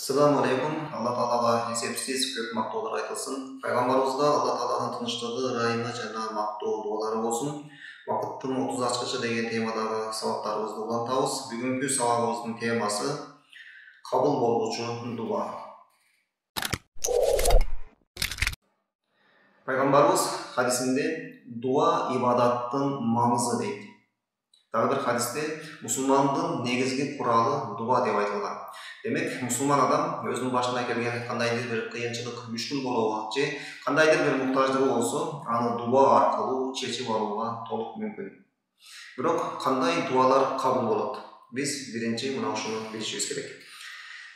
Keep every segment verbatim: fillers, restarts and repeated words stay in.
Assalamu alaikum. Allah Taalaga esepsiz көп mактоолор айтылсын. Пайгамбарыбызга Алла Тааланын тынчтыгы, ырайымы жана мактоо дуалары болсун. Вакыттын отуз ачкычы деген темадагы сабактарыбызды улантабыз. Бүгүнкү сабагыбыздын темасы кабыл болуучу дуа. Пайгамбарыбыз хадисинде дуа ибадаттын маңызы дейт. Дагы бир хадисте мусулмандын негизги куралы дуа деп айтылган. Демек, мусулман адам өзүнүн башына келген кандайдыр бир кыйынчылык, мүшкүл болобу же кандайдыр бир муктаждыгы болсо, аны дуа аркылуу чечип алууга толук мүмкүн. Бирок кандай дуалар кабыл болот? Биз биринчи мына ушуну билишибиз керек.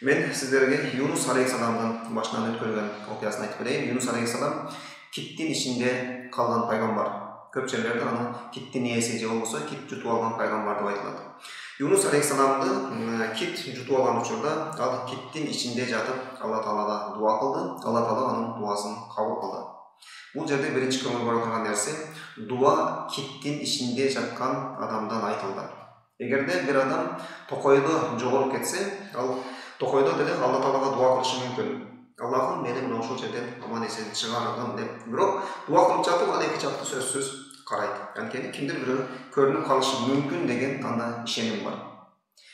Мен сиздерге Юнус алейхисаламдын башынан өткөргөн окуясын айтып берейин. Юнус алейхисалам киттин ичинде калган пайгамбар. Көп жерлерде аны киттин ээси же болбосо кит жутуп алган пайгамбар деп айтылат. Юнус алейхисаламды кит жутуп алган учурда ал киттин ичинде жатып Алла Таалага дуа кылды. Алла Таала анын дуасын кабыл кылды. Бул жерде биринчи көңүл бура турган нерсе дуа киттин ичинде жаткан адамдан айтылды. Эгерде бир адам токойдо жоголуп кетсе, ал токойдо деле Алла Таалага дуа кылышы мүмкүн. Аллахым мени мына ушул жерден аман эсен чыгаргын деп. Бирок дуа кылып жатып ал эки жакты сөзсүз карайт. Анткени кимдир бирөө көрүнүп калышы мүмкүн деген анда ишеним бар.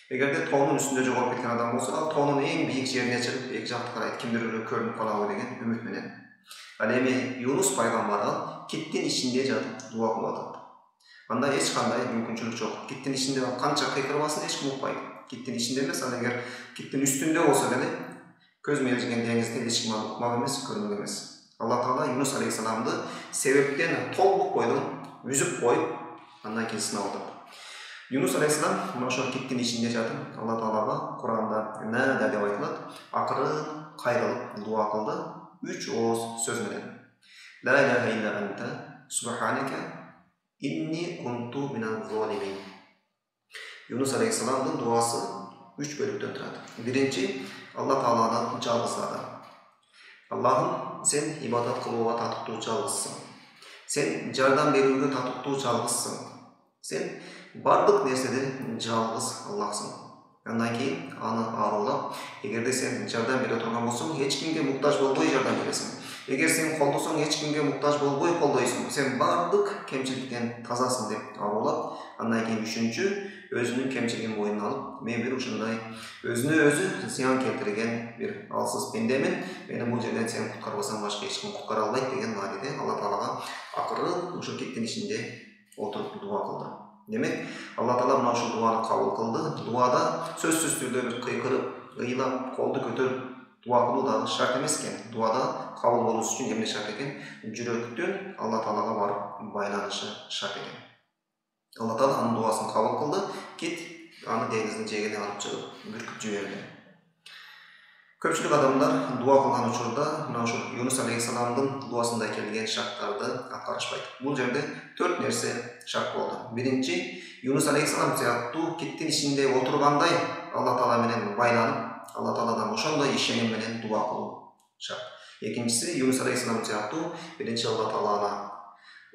Эгерде тоонун үстүндө жоголуп кеткен адам болсо, ал тоонун эң бийик жерине чыгып эки жакты карайт. Кимдир бирөө көрүнүп калабы деген үмүт менен. Ал эми Юнус пайгамбар киттин ичинде жатып дуа кылып атат. Анда эч кандай мүмкүнчүлүк жок. Киттин ичинде канча кыйкырбасын эч ким укпайт. Киттин ичинде эмес, ал эгер киттин үстүндө болсо деле көз мелжиген деңизде эч ким укмак эмес, көрмөк эмес. Алла Таала Юнус алейхисаламды себептен толук бойдон үзүп коюп, андан кийин сынап атат. Юнус алейхисалам мына ошол киттин ичинде жатып Алла Таалага Куранда нада деп айтылат, акырын кайрылып дуа кылды үч ооз сөз менен. Ла иляха илля анта субханака инни кунту миназ залимин. Юнус алейхисаламдын дуасы үч бөлүктөн турат. Биринчи Алла Тааланы жалгыздады. Аллахым, сен ибадат кылууга татыктуу жалгызсың. Сен жардам берүүгө татыктуу жалгызсың. Сен бардык нерседе жалгыз Аллахсың. Андан кийин аны ааруулап, эгерде сен жардам бере турган болсоң, эч кимге муктаж болбой жардам бересиң. Эгер сен колдосоң, эч кимге муктаж болбой колдойсуң. Сен бардык кемчиликтен тазасың деп ааруулап, андан кийин үчүнчү өзүнүн кемчилигин мойнуна алып, мен бир ушундай өзүнө өзү зыян келтирген бир алсыз пендемин, мени бул жерден сен куткарбасаң башка эч ким куткара албайт деген мааниде Алла Таалага акырын ушул киттин ичинде отуруп дуа кылды. Демек, Алла Таала мына ушул дуаны кабыл кылды. Дуада сөзсүз түрдө бир кыйкырып, ыйлап, колду көтөрүп дуа кылуу дагы шарт эмес экен. Дуада кабыл болуш үчүн эмне шарт экен? Жүрөктүн Алла Таалага барып байланышы шарт экен. Алла Таала анын дуасын кабыл кылды. Кит аны деңиздин жээгине алып чыгып бүркүп жиберди. Көпчүлүк адамдар дуа кылган учурда мына ушул Юнус алейхисаламдын дуасында келген шарттарды аткарышпайт. Бул жерде төрт нерсе шарт болду. Биринчи, Юнус алейхисалам сыяктуу киттин ичинде отургандай Алла Таала менен байланып, Алла Тааладан ошондой ишеним менен дуа кылуу шарт. Экинчиси, Юнус алейхисалам сыяктуу биринчи Алла Тааланы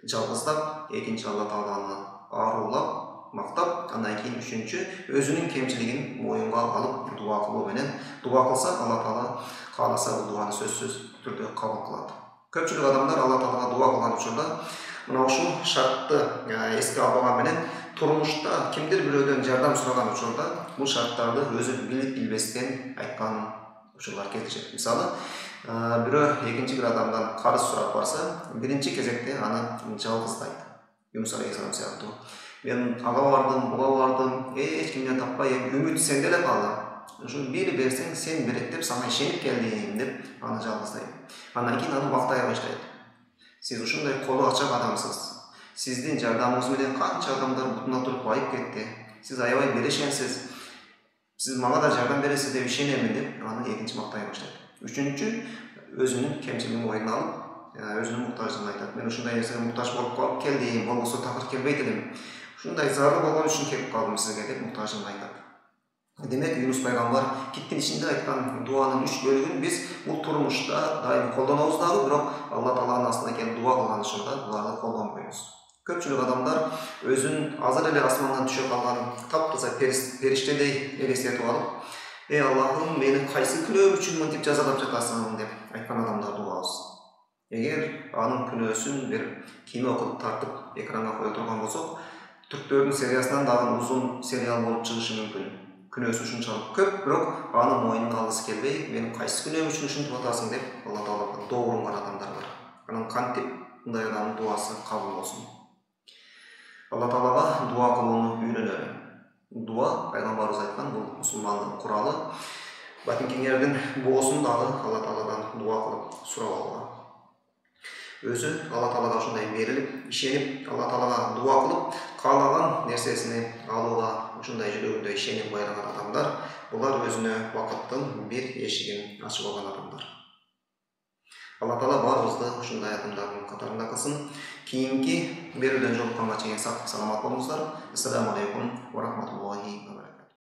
жалгыздап, экинчи Алла Тааланы ааруулап, мактап, андан кийин үчүнчү өзүнүн кемчилигин моюнга алып дуа кылуу менен дуа кылса, Алла Таала кааласа бул дуаны сөзсүз түрдө кабыл кылат. Көпчүлүк адамдар Алла Таалага дуа кылган учурда мына ушул шартты эске албаган менен турмушта кимдир бирөөдөн жардам сураган учурда бул шарттарды өзү билип билбестен айткан учурлар кездешет. Мисалы, бирөө экинчи бир адамдан карыз сурап барса, биринчи кезекте аны жалгыздайт. Юнус алейхисалам сыяктуу. Мен ага бардым, буга бардым, эч кимден таппай, үмүт сенде эле калды. Ушу бир берсең сен берет деп сага ишенип келдим деп аны жалгыздайт. Андан кийин аны мактай баштайт. Сиз ушундай колу ачак адамсыз. Сиздин жардамыңыз менен канча адамдар бутуна туруп байып кетти. Сиз аябай берешенсиз. Сиз мага да жардам бересиз деп ишенемин деп аны экинчи мактай баштайт. Үчүнчү, өзүнүн кемчилигин мойнуна алып, өзүнүн муктаждыгын айтат. Мен ушундай нерсеге муктаж болуп калып келдим, болбосо такыр келбейт элем. Ушундай зарыл болгон үчүн келип калдым сизге деп муктаждыгын айтат. Демек, Юнус пайгамбар киттин ичинде айткан дуанын үч бөлүгүн биз бул турмушта дайым колдонобуз дагы, бирок Алла Тааланын астына келип дуа кылган учурда буларды колдонбойбуз. Көпчүлүк адамдар өзүн азыр эле асмандан түшө калган таптаза периштедей элестетип алып, эй Аллахым, мени кайсы күнөөм үчүн мынтип жазалап жатасың деп айткан адамдарды угабыз. Эгер анын күнөөсүн бир кино кылып тартып экранга кое турган болсок, түрктөрдүн сериясынан дагы узун сериал болуп чыгышы мүмкүн. Күнөөсү ушунчалык көп, бирок аны мойнуна алгысы келбей, мени кайсы күнөөм үчүн ушинтип атасың деп Алла Таалага доо урунган адамдар бар. Анан кантип мындай адамдын дуасы кабыл болсун? Алла Таалага дуа кылууну үйрөнөлү. Дуа пайгамбарыбыз айткан, бул мусулмандын куралы. Батинкиңердин боосун дагы Алла Тааладан дуа кылып сурап алган. Өзү Алла Таалага ушундай берилип, ишенип, Алла Таалага дуа кылып, каалаган нерсесини алууга ушундай жүрөгүндө ишенип байраган адамдар, булар өзүнө бакыттын бир эшигин ачып алган адамдар. Алла Таала баарыбызды ушундай адамдардын катарында кылсын. Кийинки берүүдөн жолукканга чейин сак саламат болуңуздар. Ассаламу алейкум ва рахматуллах.